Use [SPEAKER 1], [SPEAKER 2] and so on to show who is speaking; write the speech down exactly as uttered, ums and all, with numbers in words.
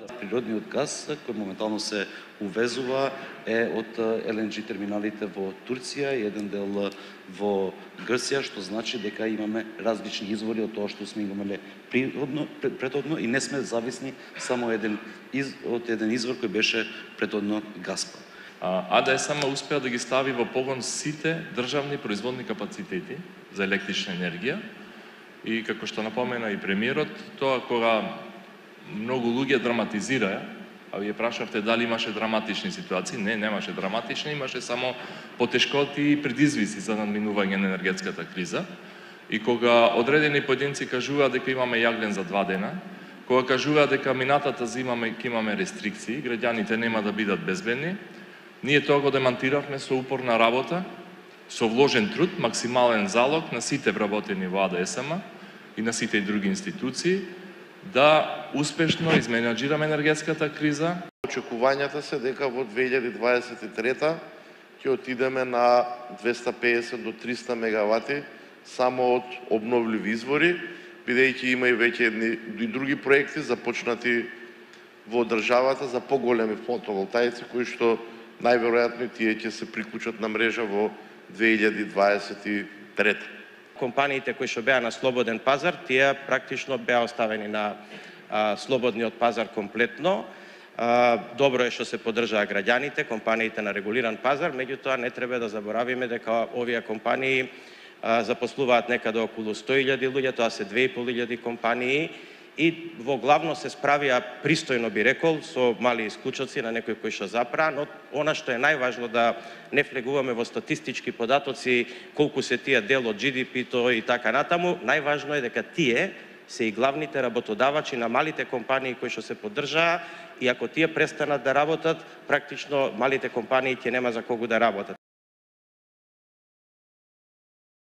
[SPEAKER 1] Природниот газ кој моментално се увезува е од Ел Ен Џи терминалите во Турција и еден дел во Грција, што значи дека имаме различни извори од тоа што сме имале природно, претhodно и не сме зависни само еден из, од еден извор кој беше претhodно Газпром.
[SPEAKER 2] А Де Ес Ем успеа да ги стави во погон сите државни производни капацитети за електрична енергија и како што напомена и премиерот, тоа кога многу луѓе драматизираа, а вие прашавте дали имаше драматични ситуации. Не, немаше драматични, имаше само потешкоти и предизвици за надминување на енергетската криза. И кога одредени поединци кажуваат дека имаме јаглен за два дена, кога кажуваат дека минатата зима ќе имаме рестрикции, граѓаните нема да бидат безбедни, ние тоа го демантиравме со упорна работа, со вложен труд, максимален залог на сите вработени во А Де Ес Ем и на сите други институции, да успешно изменаџираме енергетската криза.
[SPEAKER 3] Очекувањата се дека во две илјади дваесет и трета ќе отидеме на двеста педесет до триста мегавати само од обновливи извори, бидејќи има и веќе едни и други проекти започнати во државата за поголеми фотоволтаици кои што најверојатно тие ќе се приклучат на мрежа во две илјади дваесет и трета.
[SPEAKER 4] Компаниите кои што беа на слободен пазар, тие практично беа оставени на а, слободниот пазар комплетно. А, добро е што се поддржаа граѓаните, компаниите на регулиран пазар, меѓутоа не треба да заборавиме дека овие компании а, запослуваат некаде околу сто илјади луѓе, тоа се две и пол илјади компании и во главно се справија пристојно, би рекол, со мали исклучоци на некои кои што запраа, но она што е најважно да не влегуваме во статистички податоци, колку се тие дел од Џи Ди Пи-то и така натаму, најважно е дека тие се и главните работодавачи на малите компании кои што се поддржаа и ако тие престанат да работат, практично малите компании ќе нема за кого да работат.